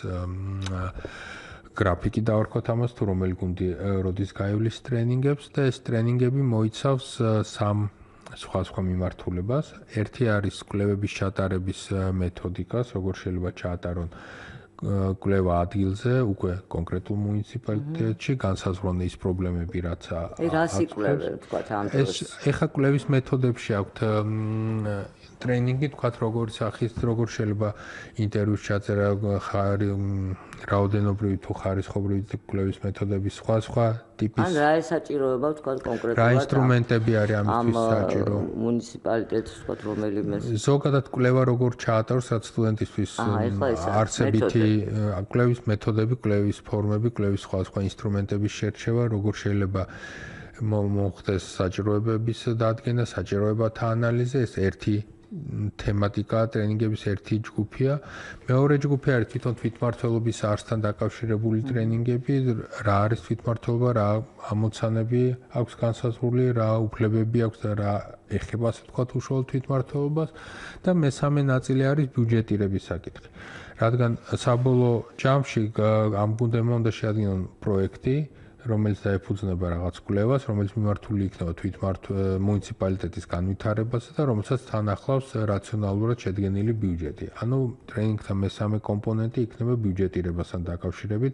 გრაფიკი დავარქვათ ამას თუ რომელი გუნდი როდის გაივლის ტრენინგებს და ეს ტრენინგები მოიცავს სამ სხვა მიმართულებას. ერთი არის კვლევების ჩატარების მეთოდიკას, როგორ შეიძლება ჩაატარონ კვლევა ადგილზე, უკვე კონკრეტულ მუნიციპალიტეტში, განსაზღვრონ ის პრობლემები, რაც რას იკვლევენ, თქვათ ამ დროს. ეხა კვლევის მეთოდებში აქვთ ტრენინგი, თქვათ როგორ შეიძლება ინტერვიუს ჩაწერა, რაოდენობრივი თუ ხარისხობრივი კვლევის მეთოდების სხვა ტიპის. ან რა ესაჭიროება, თქვათ კონკრეტულად. რა ინსტრუმენტები არის ამისთვის საჭირო? მუნიციპალიტეტს, თქვათ რომელიმე. ზოგადად კვლევა როგორ ჩაატაროს, რაც სტუდენტისთვის არსებითი კვლევის მეთოდები, კვლევის ფორმები, კვლევის სხვა ინსტრუმენტების შერჩევა, როგორ შეიძლება მოხდეს საჭიროებების დადგენა, საჭიროებათა ანალიზი, ეს ერთი თემატიკა ტრენინგების ერთი ჯგუფია. მეორე ჯგუფი არის თვითონ თვითმმართველობის არსთან დაკავშირებული ტრენინგები, რა არის თვითმმართველობა, რა ამოცანები აქვს განსაზღვრული, რა უფლებები აქვს და რა ეხება ასე ვთქვათ უშუალოდ თვითმმართველობას და მესამე ნაწილი არის ბიუჯეტირების საკითხი. რადგან საბოლოო ჯამში ამ გუნდებმა უნდა შეადგინონ პროექტი რომელიც დაეფუძნება რაღაც კვლევას, რომელიც მიმართული იქნება მუნიციპალიტეტის განვითარებაზე და რომელსაც თან ახლავს რაციონალურად შედგენილი ბიუჯეტი. ანუ ტრენინგთან მესამე კომპონენტი იქნება ბიუჯეტირებასთან დაკავშირებით,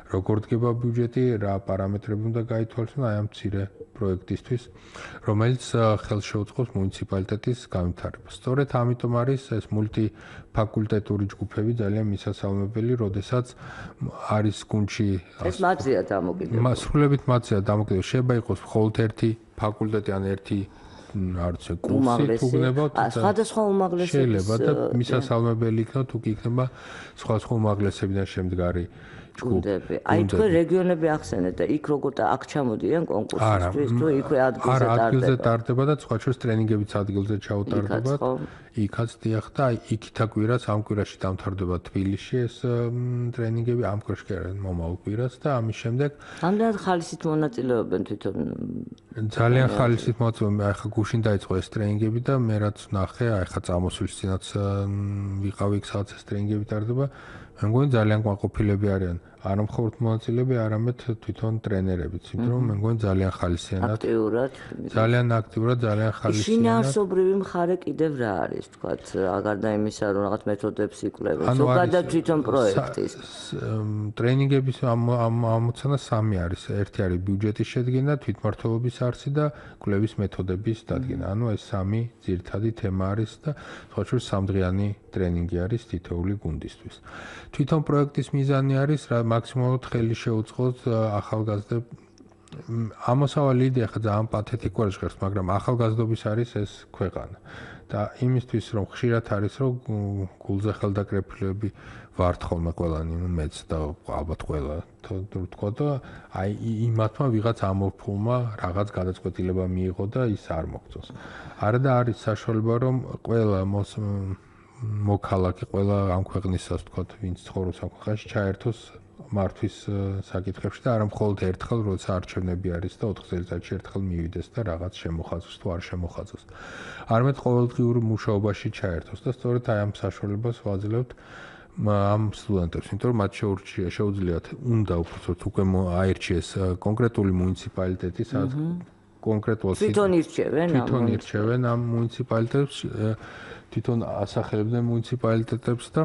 როგორ დგება ბიუჯეტი, რა პარამეტრები უნდა გაითვალისწინოს აი ამ მცირე პროექტისთვის, რომელიც ხელს შეუწყობს მუნიციპალიტეტის განვითარებას. სწორედ ამიტომ არის ეს მულტიფაკულტეტური ჯგუფები ძალიან მისასალმებელი, როდესაც არის გუნდში ეს მათზეა დამოკიდებული. სრულებით მათზეა დამოკიდებული. შეიძლება იყოს მხოლოდ ერთი ფაკულტეტი ან ერთი არც კურსი თუ გნებავთ სხვადასხვა უმაღლესების შეიძლება და მისასალმებელი იქნება თუ კი იქნება სხვადასხვა უმაღლესებიდან შემდგარი ჯგუფები. აი თქვენ რეგიონები ახსენეთ და იქ როგორ და აქ ჩამოდიან კონკურსისთვის თუ იქვე ადგილზე ტარდება. არა, ადგილზე ტარდება და სხვა შორის ტრენინგებიც ადგილზე ჩაუტარდება. იქაც დიახ და აი იქით აკვირას ამ კვირაში დამთავრდება თბილისში ეს ტრენინგები ამ კვირაში კი არა მომავალ კვირას და ამის შემდეგ ამდენად ხალისით მონაწილეობენ თვითონ ძალიან ხალისით მონაწილეობენ. აი ხა გუშინ დაიწყო ეს ტრენინგები და მე რაც ნახე, აი ხა წამოსვლის წინაც ვიყავი იქ სადაც ეს ტრენინგები ტარდება. მე მგონი ძალიან კმაყოფილები არიან. არა მხოლოდ მონაწილეები, არამედ თვითონ ტრენერებიც, იმიტომ რომ მე მგონი ძალიან ხალისიანად ძალიან აქტიურად, ძალიან ხალისიანად. შინაარსობრივი მხარე კიდევ რა არის, თქვათ, გარდა იმისა, რომ რაღაც მეთოდებს იკვლევენ, ზოგადად თვითონ პროექტის. ტრენინგების ამოცანა სამი არის. ერთი არის ბიუჯეტის შედგენა, თვითმმართველობის არსი და კვლევის მეთოდების დადგენა. ანუ ეს სამი ძირითადი თემა არის და სხვა შორის სამდღიანი ტრენინგი არის თითოეული გუნდისთვის. თვითონ პროექტის მიზანი არის რა მაქსიმალურად ხელი შეუწყოს ახალგაზრდებს. ამოსავალი იდეა ხა ძალიან პათეტიკურად ჟღერს, მაგრამ ახალგაზრდობის არის ეს ქვეყანა. და იმისთვის რომ ხშირად არის რომ გულზე ხელდაკრეფილები ვართ ხოლმე ყველანი, მეც და ალბათ ყველა თქვა და აი იმათმა ვიღაც ამორფულმა რაღაც გადაწყვეტილება მიიღო და ის არ მოგწონს. არა და არის საშუალება რომ ყველა მოქალაქე, ყველა ამ ქვეყნის ასე ვთქვათ, ვინც ცხოვრობს ამ ქვეყანაში, ჩაერთოს მართვის საკითხებში და არა მხოლოდ ერთხელ, როცა არჩევნები არის და 4 წელიწადში ერთხელ მივიდეს და რაღაც შემოხაზოს თუ არ შემოხაზოს. არამედ ყოველდღიურ მუშაობაში ჩაერთოს და სწორედ აი ამ საშუალებას ვაძლევთ ამ სტუდენტებს, იმიტომ რომ მათ შეუძლიათ უნდა უბრალოდ უკვე აირჩიეს კონკრეტული მუნიციპალიტეტი, სადაც კონკრეტულად თვითონ ირჩევენ ამ მუნიციპალიტეტებს, თვითონ ასახელებდნენ მუნიციპალიტეტებს და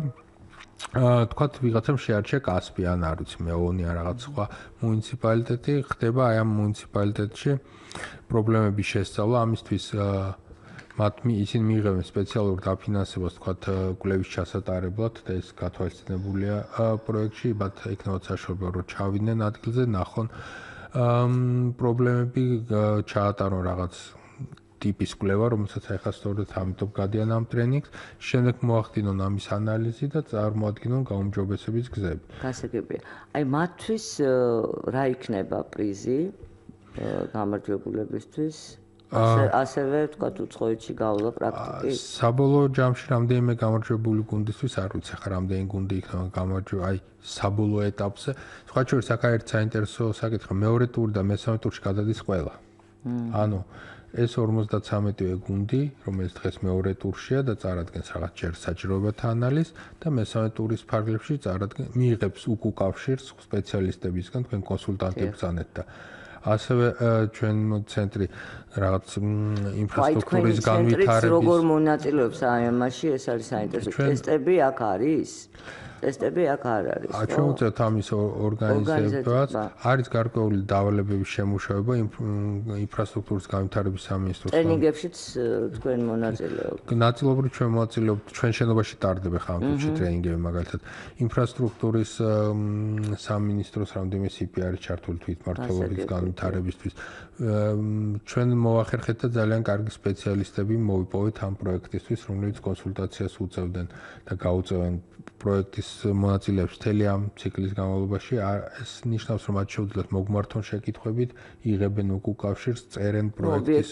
თქვათ ვიღაცამ შეარჩია კასპი ან არ ვიცი მეონი ან რაღაც სხვა მუნიციპალიტეტი, ხდება აი ამ მუნიციპალიტეტში პრობლემების შესწავლა, ამისთვის ისინი მიიღებენ სპეციალურ დაფინანსებას, თქვათ, კვლევის ჩასატარებლად და ეს გათვალისწინებულია პროექტში, მათ ექნებათ საშუალება, რომ ჩავიდნენ ადგილზე, ნახონ პრობლემები, ჩაატარონ რაღაც ტიპის კვლევა, რომელსაც ახლა სწორედ ამიტომ გადიან ამ ტრენინგს, შემდეგ მოახდინონ ამის ანალიზი და წარმოადგინონ გაუმჯობესების გზები. გასაგებია. აი მათთვის რა იქნება პრიზი გამარჯვებულებისთვის? ასევე თქვათ უცხოეთში გავლა პრაქტიკი. საბოლოო ჯამში რამდენიმე გამარჯვებული გუნდისთვის არ ვიცი, ხა რამდენი გუნდი იქნება გამარჯვებული, აი საბოლოო ეტაპზე. სხვა შორის აქ ერთ საინტერესო საკითხი, მეორე ტური და მესამე ტურში გადადის ყველა. ანუ ეს 53-ვე გუნდი, რომელიც დღეს მეორე ტურშია და წარადგენს რაღაც ჯერ საჭიროებათა ანალიზს და მესამე ტურის ფარგლებში მიიღებს უკავშირს სპეციალისტებისგან, თქვენ კონსულტანტებს ბრძანეთ და ასევე ჩვენ ცენტრი რაღაც ინფრასტრუქტურის განვითარების როგორ მონაწილეობს აი ამაში, ეს არის საინტერესო. ტესტები აქ არის? ტესტები აქ არ არის. ჩვენ უწევთ ამის ორგანიზებას. არის გარკვეული დავალებების შემუშავება ინფრასტრუქტურის განვითარების სამინისტროს. ტრენინგებშიც თქვენ მონაწილეობთ. ნაწილობრივ ჩვენ მონაწილეობთ, ჩვენ შენობაში ტარდება ხამ თუჩი ტრენინგები, მაგალითად ინფრასტრუქტურის სამინისტროს რამდენიმე CP არის ჩართული თვითმმართველობის განვითარებისთვის. ჩვენ მოახერხეთ და ძალიან კარგი სპეციალისტები მოვიპოვეთ ამ პროექტისთვის, რომლებიც კონსულტაციას უწევდნენ და გაუწევენ პროექტის მონაწილეებს მთელი ამ ციკლის განმავლობაში. ეს ნიშნავს, რომ მათ შეუძლიათ მოგმართონ შეკითხვებით, იღებენ უკავშირს, წერენ პროექტის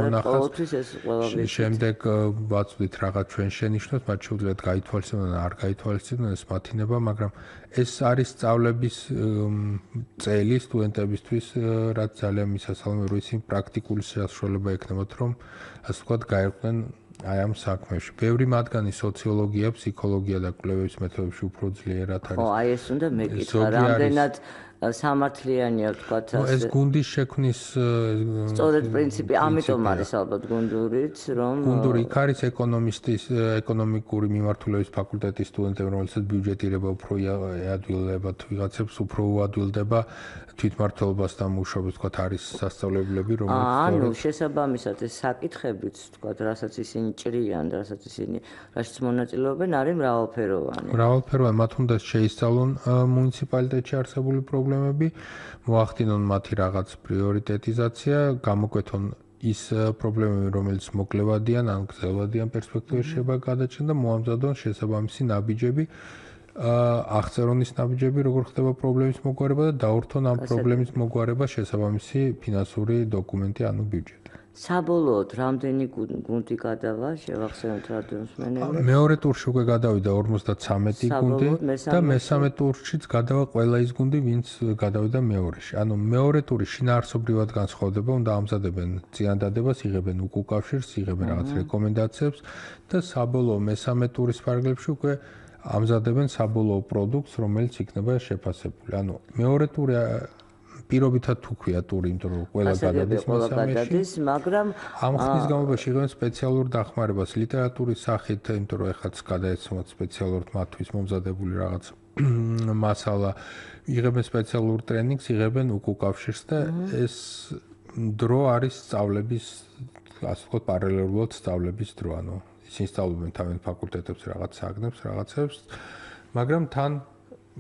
მონახაზს. შემდეგ ვაწვდით რაღაც ჩვენ შენიშვნებს, მათ შეუძლიათ გაითვალისწინონ, არ გაითვალისწინონ, ეს მათინება, მაგრამ ეს არის სწავლების წელი სტუდენტებისთვის, რაც ძალიან მისასალმე, რომ ისინი პრაქტიკული საშუალება ექნებათ, რომ ასე ვთქვათ, გაერკვნენ აი ამ საქმეში. ბევრი მათგანი სოციოლოგია, ფსიქოლოგია და კვლევების მეთოდებში უფრო ძლიერად არის. ხო, აი ეს უნდა მეკითხა, რამდენად სამართლიანია ვთქვათ ასე. ეს გუნდის შექმნის სწორედ პრინციპი, ამიტომ არის ალბათ გუნდურიც, რომ გუნდური იქ არის ეკონომიკური მიმართულების ფაკულტეტის სტუდენტები, რომელსაც ბიუჯეტირება უფრო ადვილებად ვიღაცებს უფრო უადვილდება თვითმმართველობასთან მუშაობს, ვთქვათ, არის სასწავლებლები, რომელსაც ანუ შესაბამისად ეს საკითხებიც, ვთქვათ, რასაც ისინი ჭრიან, რასაც ისინი რაშიც მონაწილეობენ, არის მრავალფეროვანი. მრავალფეროვანი, მათ უნდა შეისწავლონ მუნიციპალიტეტში არსებული პრობლემები, მოახდინონ მათი რაღაც პრიორიტეტიზაცია, გამოკვეთონ ის პრობლემები, რომელიც მოკლევადიან, ან გრძელვადიან პერსპექტივაში შეიძლება გადაჭრან და მოამზადონ შესაბამისი ნაბიჯები. აღწერონ ის ნაბიჯები, როგორ ხდება პრობლემის მოგვარება და დაურთონ ამ პრობლემის მოგვარება შესაბამისი ფინანსური დოკუმენტი, ანუ ბიუჯეტი. საბოლოოდ რამდენი გუნდი გადავა, შევახსენოთ რადიოსმენელებს? მეორე ტურში უკვე გადავიდა 53 გუნდი და მესამე ტურშიც გადავა ყველა ის გუნდი, ვინც გადავიდა მეორეში. ანუ მეორე ტური შინაარსობრივად განსხვავდება, უნდა ამზადებენ წინადადებას, იღებენ უკავშირს, იღებენ რაღაც რეკომენდაციებს და საბოლოო მესამე ტურის ფარგლებში უკვე ამზადებენ საბოლოო პროდუქტს, რომელიც იქნება შეფასებული. ანუ მეორე ტური პირობითად თუ ქვია ტური, იმიტომ რომ ყველა გადადის მესამეში, მაგრამ ამ ხნის განმავლობაში იღებენ სპეციალურ დახმარებას ლიტერატურის სახით, იმიტომ რომ ეხაც გადაეცემოთ სპეციალურად მათთვის მომზადებული რაღაც მასალა, იღებენ სპეციალურ ტრენინგს, იღებენ უკავშირს და ეს დრო არის სწავლების, ასე ვთქვათ, პარალელურად სწავლების დრო, ანუ ისინი სწავლობენ თავენ ფაკულტეტებს რაღაც საგნებს, რაღაცებს, მაგრამ თან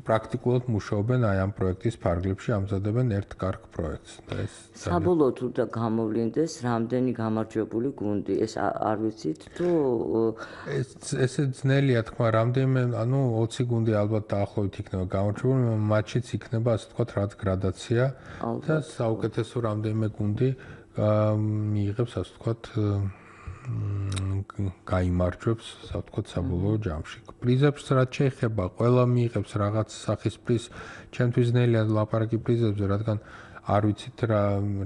პრაქტიკულად მუშაობენ აი ამ პროექტის ფარგლებში, ამზადებენ ერთ კარგ პროექტს და ეს საბოლოოდ უნდა გამოვლინდეს რამდენი გამარჯვებული გუნდი, ეს არ ვიცით თუ ესე ძნელია თქვა, რამდენიმე, ანუ 20 გუნდი ალბათ დაახლოებით იქნება გამარჯვებული, მატჩიც იქნება, ასე ვთქვათ, რაც გრადაცია და საუკეთესო რამდენიმე გუნდი მიიღებს, ასე ვთქვათ, გაიმარჯვებს, ასე ვთქვათ, საბოლოო ჯამში. პრიზებს რაც შეეხება, ყველა მიიღებს რაღაც სახის პრიზს. ჩემთვის ძნელია ლაპარაკი პრიზებზე, რადგან არ ვიცით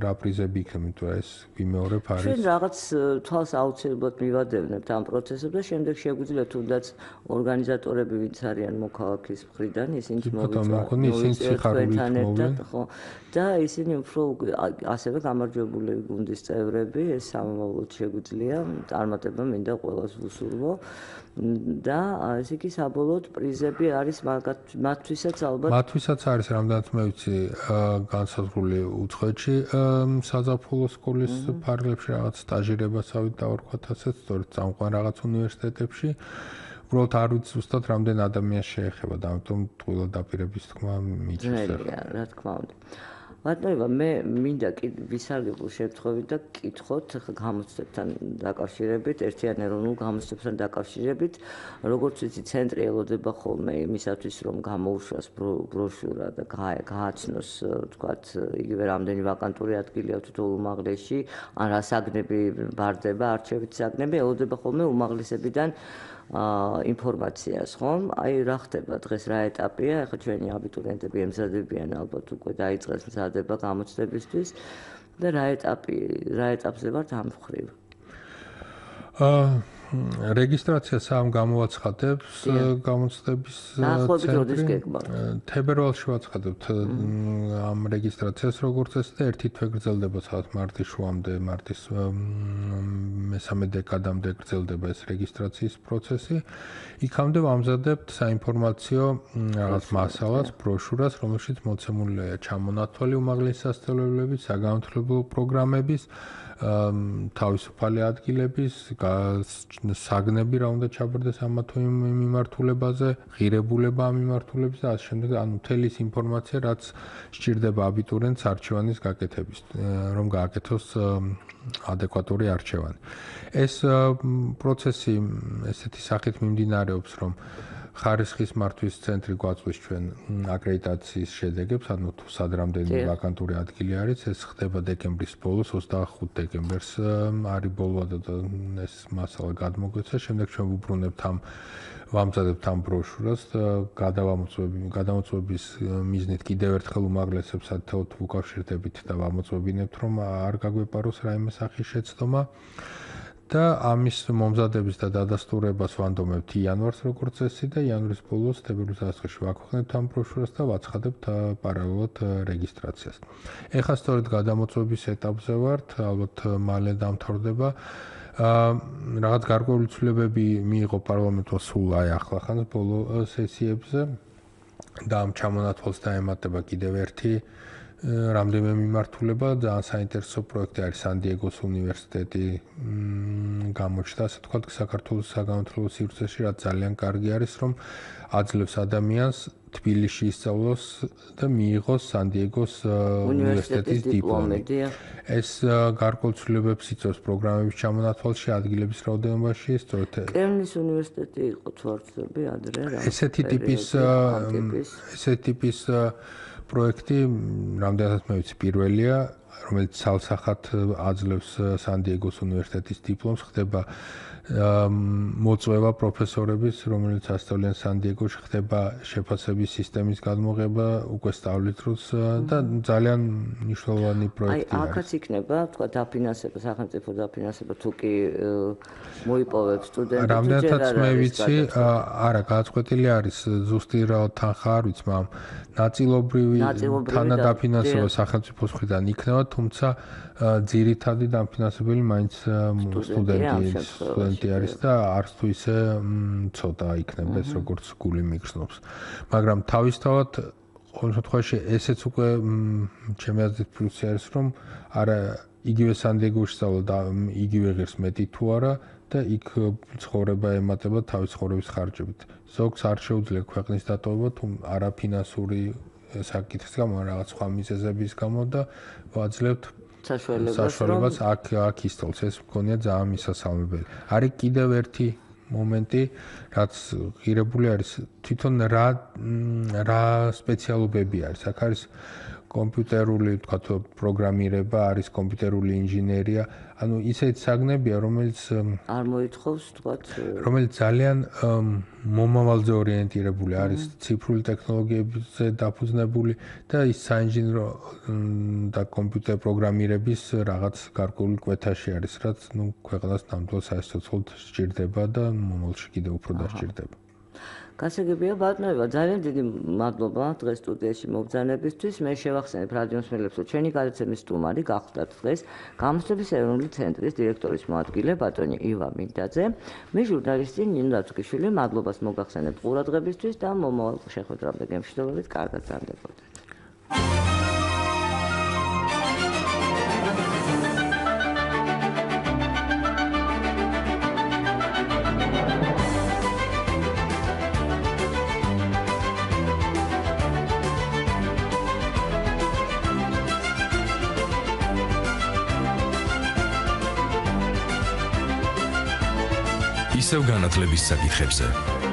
რა პრიზები იქნება, თუ ეს ვიმეორებ არის. ჩვენ რაღაც თვალს აუცილებლად მივადევნებთ ამ პროცესებს და შემდეგ შეგვიძლია თუნდაც ორგანიზატორები ვინც არიან მოქალაქის მხრიდან, ისინი მოვიწვიოთ, ხო. და ისინი უფრო ასევე გამარჯვებული გუნდის წევრები, ეს სამომავლოდ შეგვიძლია, წარმატება მინდა ყველას ვუსურვო. და ესე იგი საბოლოოდ პრიზები არის მათთვისაც ალბათ მათთვისაც არის რამდენად მე ვიცი განსაზღვრული დაწყებული უცხოეთში საზაფხულო სკოლის ფარგლებში რაღაც სტაჟირებასავით დავარქვათ ასეც, სწორედ წამყვან რაღაც უნივერსიტეტებში. უბრალოდ არ ვიცი ზუსტად რამდენ ადამიანს შეეხება და ამიტომ ტყუილად დაპირების თქმა მიჩნევს. რა თქმა უნდა. ბატონო, მე მინდა ვისარგებლო შემთხვევით და კითხოთ გამოცდებთან დაკავშირებით, ერთიან ეროვნულ გამოცდებთან დაკავშირებით, როგორც ვიცი, ცენტრი ელოდება ხოლმე იმისათვის, რომ გამოუშვას ბროშურა და გააცნოს, თქვათ, იგივე რამდენი ვაკანტური ადგილია თითოეულ უმაღლესში, ან რა საგნები ბარდება, არჩევითი საგნები, ელოდება ხოლმე უმაღლესებიდან ინფორმაციას, ხომ? აი რა ხდება დღეს, რა ეტაპია? ახლა ჩვენი აბიტურიენტები ემზადებიან ალბათ უკვე დაიწყეს მზადება გამოცდებისთვის და რა ეტაპზე ვართ ამ მხრივ? რეგისტრაცია სამ გამოვაცხადებს გამოცდების ცენტრი. თებერვალში ვაცხადებთ ამ რეგისტრაციას როგორც ეს და ერთი თვე გრძელდება საათ მარტის შუამდე, მარტის მესამე დეკადამდე გრძელდება ეს რეგისტრაციის პროცესი. იქამდე ვამზადებთ საინფორმაციო რაღაც მასალას, ბროშურას, რომელშიც მოცემულია ჩამონათვალი უმაღლესი სასწავლებლების, საგანმანათლებლო პროგრამების, თავისუფალი ადგილების, საგნები რა უნდა ჩაბარდეს ამ თუ იმ მიმართულებაზე, ღირებულება ამ მიმართულების და ასე შემდეგ, ანუ მთელი ის ინფორმაცია, რაც სჭირდება აბიტურიენტს არჩევანის გაკეთების, რომ გააკეთოს ადეკვატური არჩევანი. ეს პროცესი ესეთი სახით მიმდინარეობს, რომ ხარისხის მართვის ცენტრი გვაწვის ჩვენ აკრედიტაციის შედეგებს, ანუ თუ სად რამდენი ვაკანტური ადგილი არის, ეს ხდება დეკემბრის ბოლოს, 25 დეკემბერს არის ბოლო და ეს მასალა გადმოგვეცა, შემდეგ ჩვენ ვუბრუნებთ ვამზადებთ ამ ბროშურას და გადამოწმების მიზნით კიდევ ერთხელ უმაღლესებს საერთოდ ვუკავშირდებით და ვამოწმებინებთ, რომ არ გაგვეპაროს რაიმე სახის შეცდომა. და ამის მომზადების და დადასტურებას ვანდომებთ იანვარს როგორც წესი და იანვრის ბოლოს თებერვლის დასაწყისში ვაქვეყნებთ ამ ბროშურას და ვაცხადებთ პარალელურად რეგისტრაციას. ეხლა სწორედ გადამოწმების ეტაპზე ვართ, ალბათ მალე დამთავრდება. რაღაც გარკვეული ცვლილებები მიიღო პარლამენტმა სულ ახლახანს ბოლო სესიებზე და ამ ჩამონათვალს დაემატება კიდევ ერთი რამდენიმე მიმართულება და საინტერესო პროექტი არის სან-დიეგოს უნივერსიტეტი გამოჩნდა, ასე თქვა, საქართველოს საგანმანათლებლო სივრცეში, რაც ძალიან კარგი არის, რომ აძლევს ადამიანს თბილისში ისწავლოს და მიიღოს სან-დიეგოს უნივერსიტეტის დიპლომი. ეს გარკვეულ ცვლილებებს იწვევს პროგრამების ჩამონათვალში, ადგილების რაოდენობაში, სწორედ კერნის უნივერსიტეტი იყო თვარცები ადრე რა. ესეთი ტიპის პროექტი, რამდენადაც მე ვიცი, პირველია, რომელიც ცალსახად აძლევს სან-დიეგოს უნივერსიტეტის დიპლომს, ხდება მოწვევა პროფესორების, რომელიც ასწავლიან სან-დიეგოში, ხდება შეფასების სისტემის გადმოღება უკვე სწავლის დროს და ძალიან მნიშვნელოვანი პროექტი არის. აი, აქაც იქნება, თქვა, დაფინანსება, სახელმწიფო დაფინანსება, თუ კი მოიპოვებს სტუდენტებს. რამდენადაც მე ვიცი, არა, გადაწყვეტილი არის ზუსტი რა თანხა არ ვიცი, მაგრამ ნაწილობრივი თანადაფინანსება სახელმწიფოს მხრიდან იქნება, თუმცა ძირითადი დაფინანსებელი მაინც სტუდენტი არის და არც თუ ისე ცოტა იქნება ეს როგორც გული მიგრძნობს. მაგრამ თავისთავად ყოველ შემთხვევაში ესეც უკვე ჩემი აზრით პლუსი არის, რომ არა იგივე სან-დიეგოში სწავლა და იგივე ღირს მეტი თუ არა და იქ ცხოვრება ემატება თავის ცხოვრების ხარჯებით. ზოგს არ შეუძლია ქვეყნის დატოვება, თუ არაფინანსური საკითხის გამო, რაღაც სხვა მიზეზების გამო და ვაძლევთ საშუალებას აქ ისწავლოს. ეს მგონია ძალიან მისასალმებელი. არის კიდევ ერთი მომენტი, რაც ღირებული არის, თვითონ რა სპეციალობები არის. აქ არის კომპიუტერული, ვთქვათ, პროგრამირება, არის კომპიუტერული ინჟინერია, ანუ ისეთი საგნებია, რომელიც არ მოითხოვს, ვთქვათ, რომელიც ძალიან მომავალზე ორიენტირებული არის, ციფრული ტექნოლოგიებზე დაფუძნებული და ის საინჟინრო და კომპიუტერ პროგრამირების რაღაც გარკვეული კვეთაში არის, რაც ქვეყანას ნამდვილ საერთოდ სჭირდება და მომავალში კიდევ უფრო დასჭირდება. გასაგებია ბატონებო, ძალიან დიდი მადლობა დღეს სტუდიაში მობრძანებისთვის. მე შევახსენებ რადიო მსმენელებს, რომ ჩვენი გადაცემის სტუმარი გახლდათ დღეს გამოცდების ეროვნული ცენტრის დირექტორის მოადგილე ბატონი ივა მინდაძე. მე ჟურნალისტი ნინო დათუკიშვილი, მადლობას მოგახსენებთ ყურადღებისთვის და მომავალ შეხვედრამდე გემშვიდობებით, კარგად გრძანდებოდეთ. ისევ განათლების საკითხებზე.